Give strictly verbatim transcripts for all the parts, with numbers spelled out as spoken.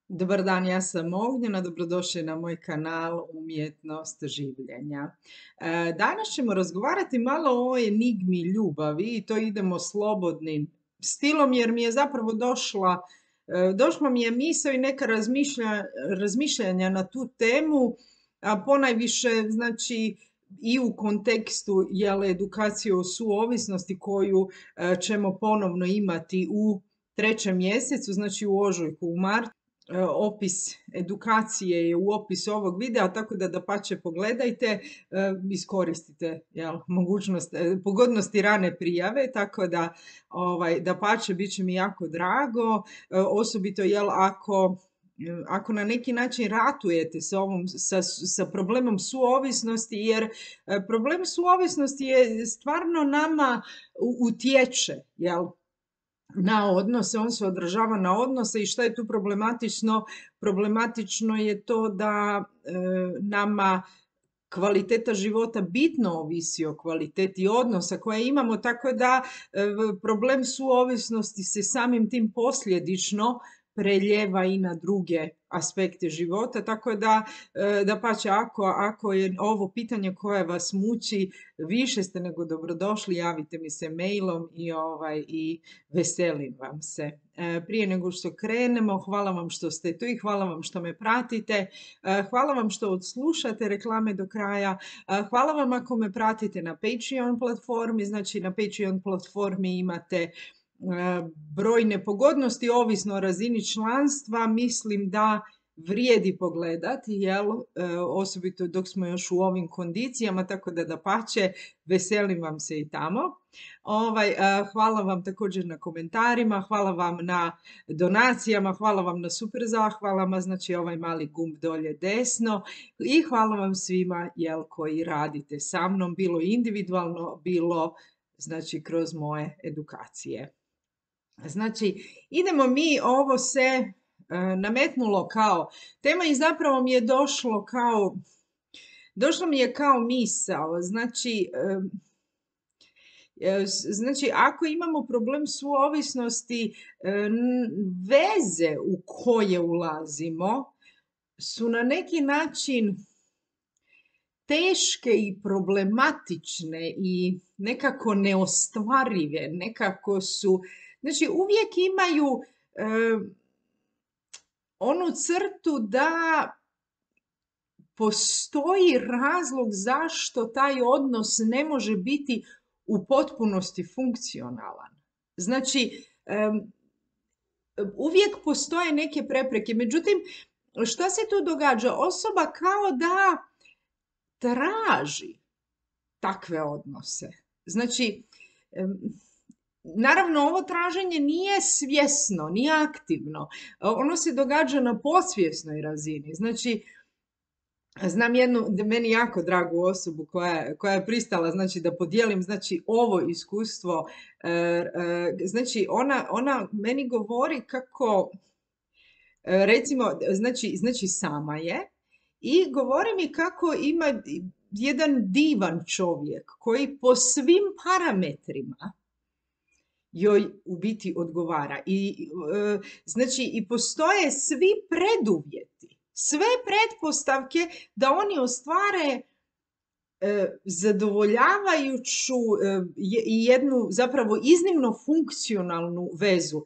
Dobar dan, ja sam Ognjena, dobrodošli na moj kanal Umjetnost življenja. E, danas ćemo razgovarati malo o enigmi ljubavi i to idemo slobodnim stilom jer mi je zapravo došla, e, došla mi je misao i neka razmišlja, razmišljanja na tu temu, a ponajviše znači i u kontekstu jel, edukacije o suovisnosti koju e, ćemo ponovno imati u trećem mjesecu, znači u ožujku, u martu. E, opis edukacije je u opisu ovog videa, tako da dapače pogledajte, e, iskoristite jel, mogućnost, e, pogodnosti rane prijave, tako da ovaj, dapače bit će mi jako drago, e, osobito jel, ako ako na neki način ratujete sa, ovom, sa, sa problemom suovisnosti, jer e, problem suovisnosti je stvarno nama utječe, jel? Na odnose, on se odražava na odnose i šta je tu problematično? Problematično je to da e, nama kvaliteta života bitno ovisi o kvaliteti odnosa koje imamo, tako da e, problem suovisnosti se samim tim posljedično preljeva i na druge aspekte života, tako da, dapače, ako, ako je ovo pitanje koje vas muči, više ste nego dobrodošli, javite mi se mailom i, ovaj, i veselim vam se. Prije nego što krenemo, hvala vam što ste tu i hvala vam što me pratite, hvala vam što odslušate reklame do kraja, hvala vam ako me pratite na Patreon platformi, znači na Patreon platformi imate brojne pogodnosti, ovisno o razini članstva, mislim da vrijedi pogledati, jel, osobito dok smo još u ovim kondicijama, tako da dapače, veselim vam se i tamo. Ovaj, hvala vam također na komentarima, hvala vam na donacijama, hvala vam na super zahvalama, znači ovaj mali gumb dolje desno i hvala vam svima jel, koji radite sa mnom, bilo individualno, bilo znači kroz moje edukacije. Znači, idemo mi, ovo se e, nametnulo kao tema i zapravo mi je došlo kao, došlo mi je kao misao, znači, e, znači ako imamo problem suovisnosti, e, veze u koje ulazimo su na neki način teške i problematične i nekako neostvarive, nekako su, znači uvijek imaju e, onu crtu da postoji razlog zašto taj odnos ne može biti u potpunosti funkcionalan. Znači, e, uvijek postoje neke prepreke, međutim, šta se tu događa? Osoba kao da traži takve odnose. Znači, naravno, ovo traženje nije svjesno, nije aktivno. Ono se događa na podsvjesnoj razini. Znači, znam jednu, meni jako dragu osobu koja, koja je pristala znači, da podijelim znači, ovo iskustvo. Znači, ona, ona meni govori kako, recimo, znači, znači sama je, i govori mi kako ima jedan divan čovjek koji po svim parametrima joj u biti odgovara. I, e, znači, i postoje svi preduvjeti, sve pretpostavke da oni ostvare e, zadovoljavajuću e, i jednu zapravo iznimno funkcionalnu vezu.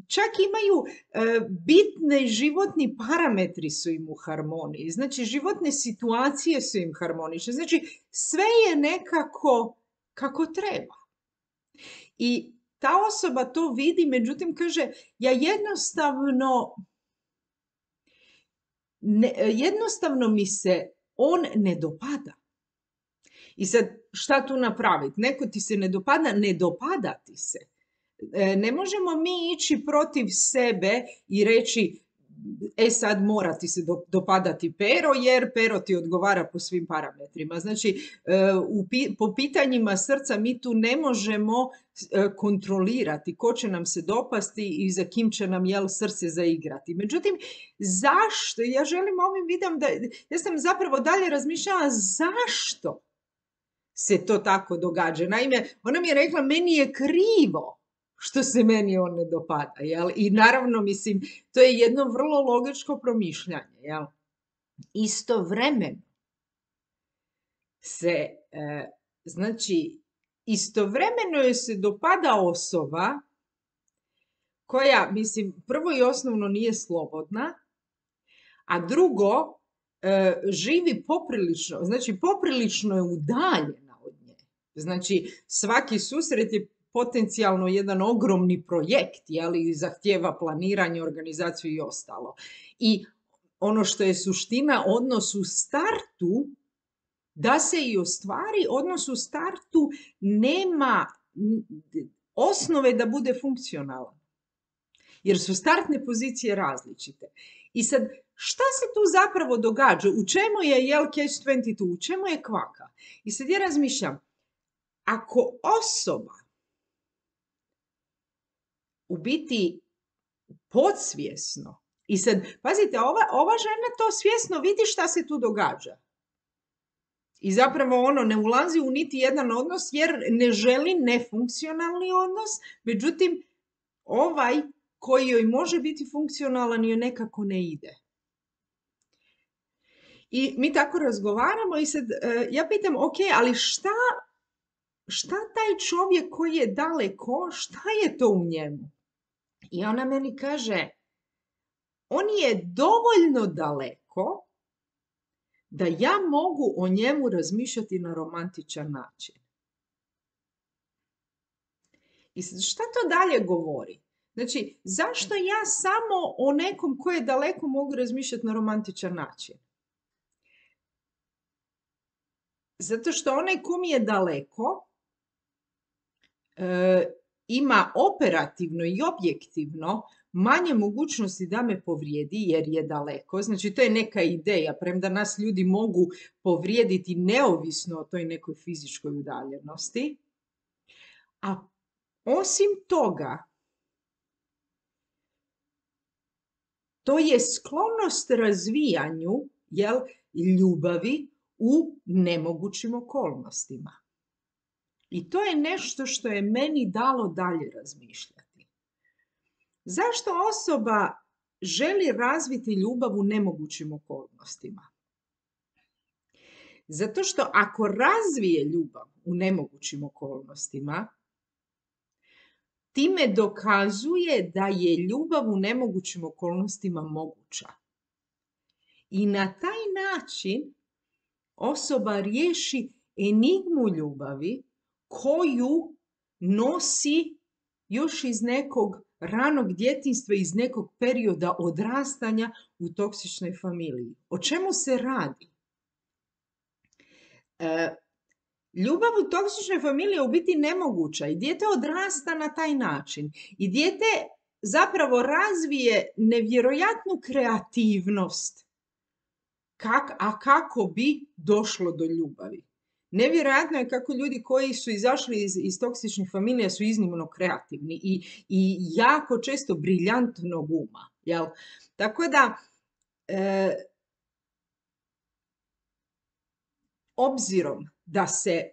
Čak imaju e, bitne životni parametri su im u harmoniji, znači životne situacije su im harmonične, znači sve je nekako kako treba. I ta osoba to vidi, međutim kaže, ja jednostavno, ne, jednostavno mi se on ne dopada. I sad šta tu napraviti? Neko ti se ne dopada, ne dopada ti se. Ne možemo mi ići protiv sebe i reći, e sad mora ti se dopadati Pero, jer Pero ti odgovara po svim parametrima. Znači, u, po pitanjima srca mi tu ne možemo kontrolirati ko će nam se dopasti i za kim će nam jel srce zaigrati. Međutim, zašto? Ja želim ovim videom da, ja sam zapravo dalje razmišljala zašto se to tako događa. Naime, ona mi je rekla, meni je krivo što se meni on ne dopada, jel? I naravno, mislim, to je jedno vrlo logičko promišljanje, jel? Istovremeno se, e, znači, istovremeno joj se dopada osoba koja, mislim, prvo i osnovno nije slobodna, a drugo, e, živi poprilično, znači poprilično je udaljena od nje. Znači, svaki susret je potencijalno jedan ogromni projekt, jeli, zahtijeva planiranje, organizaciju i ostalo. I ono što je suština, odnos u startu, da se i ostvari, odnos u startu nema osnove da bude funkcionalan. Jer su startne pozicije različite. I sad, šta se tu zapravo događa? U čemu je, jel, catch dvadeset dva? U čemu je kvaka? I sad ja razmišljam, ako osoba u biti podsvjesno, i sad, pazite, ova, ova žena to svjesno vidi šta se tu događa. I zapravo ono ne ulazi u niti jedan odnos jer ne želi nefunkcionalni odnos, međutim, ovaj koji joj može biti funkcionalan joj nekako ne ide. I mi tako razgovaramo i sad ja pitam, ok, ali šta, šta taj čovjek koji je daleko, šta je to u njemu? I ona meni kaže, on je dovoljno daleko da ja mogu o njemu razmišljati na romantičan način. I sad, šta to dalje govori? Znači, zašto ja samo o nekom koji je daleko mogu razmišljati na romantičan način? Zato što onaj ko mi je daleko e, ima operativno i objektivno manje mogućnosti da me povrijedi jer je daleko. Znači, to je neka ideja, premda nas ljudi mogu povrijediti neovisno o toj nekoj fizičkoj udaljenosti. A osim toga, to je sklonost razvijanju, jel, ljubavi u nemogućim okolnostima. I to je nešto što je meni dalo dalje razmišljati. Zašto osoba želi razviti ljubav u nemogućim okolnostima? Zato što ako razvije ljubav u nemogućim okolnostima, time dokazuje da je ljubav u nemogućim okolnostima moguća. I na taj način osoba riješi enigmu ljubavi koju nosi još iz nekog ranog djetinjstva, iz nekog perioda odrastanja u toksičnoj familiji. O čemu se radi? E, ljubav u toksičnoj familiji je u biti nemoguća i dijete odrasta na taj način. I dijete zapravo razvije nevjerojatnu kreativnost. Kak, a kako bi došlo do ljubavi? Nevjerojatno je kako ljudi koji su izašli iz, iz toksičnih familija su iznimno kreativni i, i jako često briljantnog uma. Jel? Tako da, e, obzirom da se, e,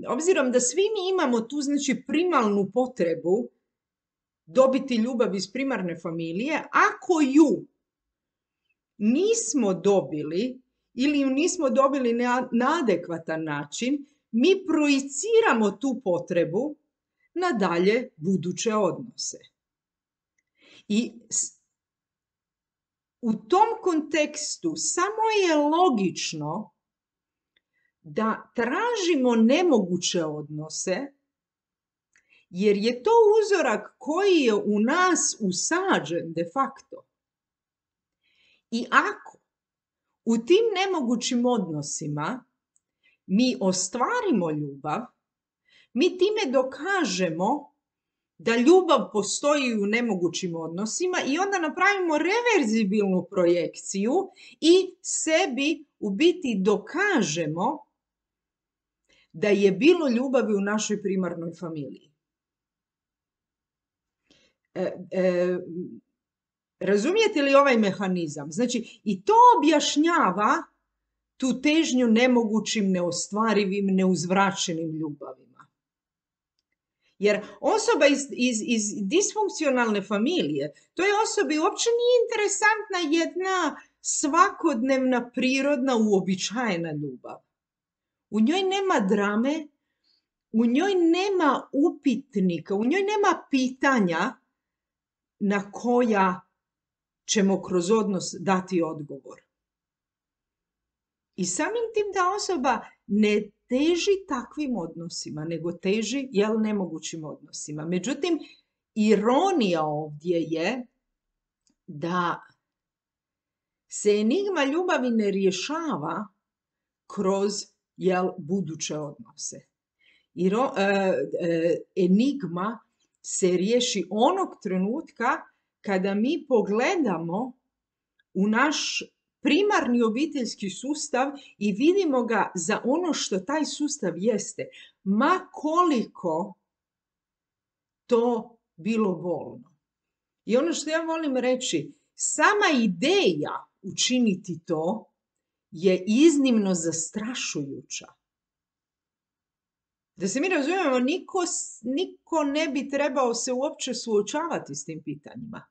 obzirom da svi mi imamo tu, znači, primalnu potrebu dobiti ljubav iz primarne familije, ako ju nismo dobili ili ju nismo dobili na, na adekvatan način, mi projiciramo tu potrebu na dalje buduće odnose. I u tom kontekstu samo je logično da tražimo nemoguće odnose, jer je to uzorak koji je u nas usađen de facto. I ako u tim nemogućim odnosima mi ostvarimo ljubav, mi time dokažemo da ljubav postoji u nemogućim odnosima i onda napravimo reverzibilnu projekciju i sebi u biti dokažemo da je bilo ljubavi u našoj primarnoj familiji. E, e, razumijete li ovaj mehanizam? Znači, i to objašnjava tu težnju nemogućim, neostvarivim, neuzvraćenim ljubavima. Jer osoba iz, iz, iz disfunkcionalne familije, toj osobi uopće nije interesantna jedna svakodnevna, prirodna, uobičajena ljubav. U njoj nema drame, u njoj nema upitnika, u njoj nema pitanja na koja ćemo kroz odnos dati odgovor. I samim tim ta osoba ne teži takvim odnosima, nego teži jel nemogućim odnosima. Međutim, ironija ovdje je da se enigma ljubavi ne rješava kroz jel buduće odnose. Iro, e, e, enigma se riješi onog trenutka kada mi pogledamo u naš primarni obiteljski sustav i vidimo ga za ono što taj sustav jeste, ma koliko to bilo bolno. I ono što ja volim reći, sama ideja učiniti to je iznimno zastrašujuća. Da se mi razumijemo, niko, niko ne bi trebao se uopće suočavati s tim pitanjima.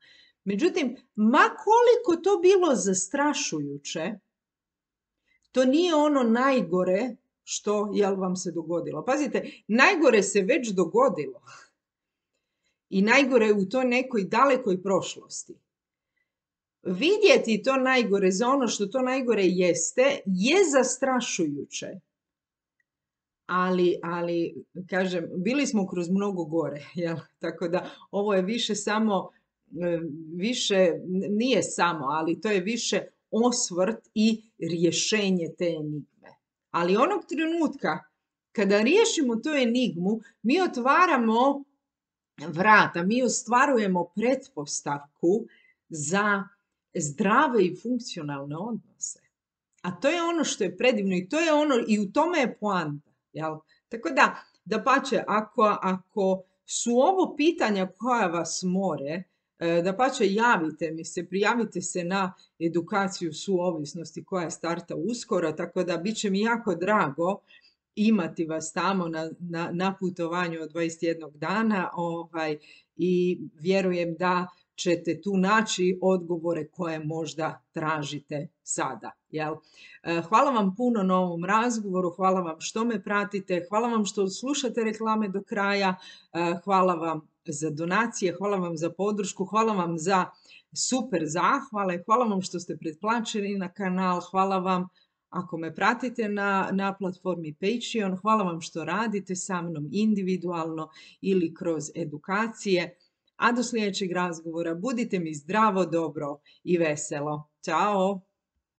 Međutim, ma koliko to bilo zastrašujuće, to nije ono najgore što jel vam se dogodilo. Pazite, najgore se već dogodilo. I najgore je u toj nekoj dalekoj prošlosti. Vidjeti to najgore za ono što to najgore jeste, je zastrašujuće. Ali, ali, kažem, bili smo kroz mnogo gore, jel? Tako da ovo je više samo, više, nije samo, ali to je više osvrt i rješenje te enigme. Ali onog trenutka kada riješimo tu enigmu, mi otvaramo vrata, mi ostvarujemo pretpostavku za zdrave i funkcionalne odnose. A to je ono što je predivno i to je ono, i u tome je poanta. Jel? Tako da, dapače, ako, ako su ovo pitanja koja vas more, dapače, javite mi se, prijavite se na edukaciju suovisnosti koja starta uskoro, tako da bit će mi jako drago imati vas tamo na, na, na putovanju od dvadeset jednog dana ovaj, i vjerujem da ćete tu naći odgovore koje možda tražite sada. Jel? Hvala vam puno na ovom razgovoru, hvala vam što me pratite, hvala vam što slušate reklame do kraja, hvala vam za donacije, hvala vam za podršku, hvala vam za super zahvale, hvala vam što ste pretplaćeni na kanal, hvala vam ako me pratite na, na platformi Patreon, hvala vam što radite sa mnom individualno ili kroz edukacije. A do sljedećeg razgovora budite mi zdravo, dobro i veselo. Ćao!